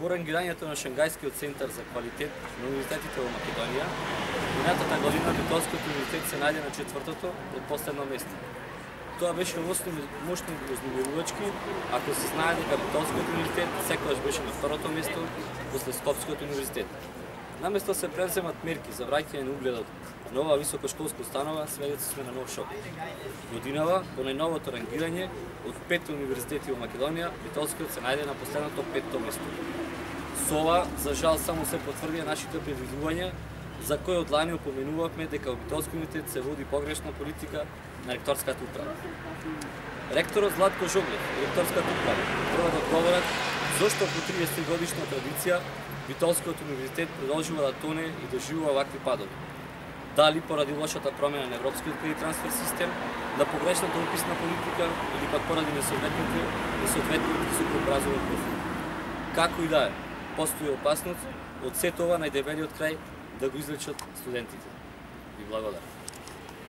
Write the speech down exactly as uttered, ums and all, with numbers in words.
По рангирањето на Шангајскиот центар за квалитет на универзитетите во Македонија, минатата година Битолскиот универзитет се најде на четвртото од последно место. Тоа беше мощно вознемирувачки, ако се знае дека Битолскиот универзитет секогаш беше на второто место после Скопскиот универзитет. Наместо се преземат мерки за враќање на угледот на оваа високошколска установа, сведоци сме на нов шок. Годинава, по најновото рангирање, од пет универзитети во Македонија, Битолскиот се најде на последното петто место. Со ова, за жал, само се потврдија нашите предвидувања, за кои од лани опоменувавме дека во Битолскиот универзитет се води погрешна политика на ректорската управа. Ректорот Златко Жоглев и ректорската управа треба да одговорат зошто по триесет годишна традиција Битолскиот универзитет продолжува да тоне и доживува вакви падови. Дали поради лошата промена на европскиот кредит трансфер систем, на погрешната уписна политика или пак поради несоодветните несоодветните високообразовен профил. Како и да е, постои опасност од сето ова најдебелиот крај да го излечат студентите. Ви благодарам.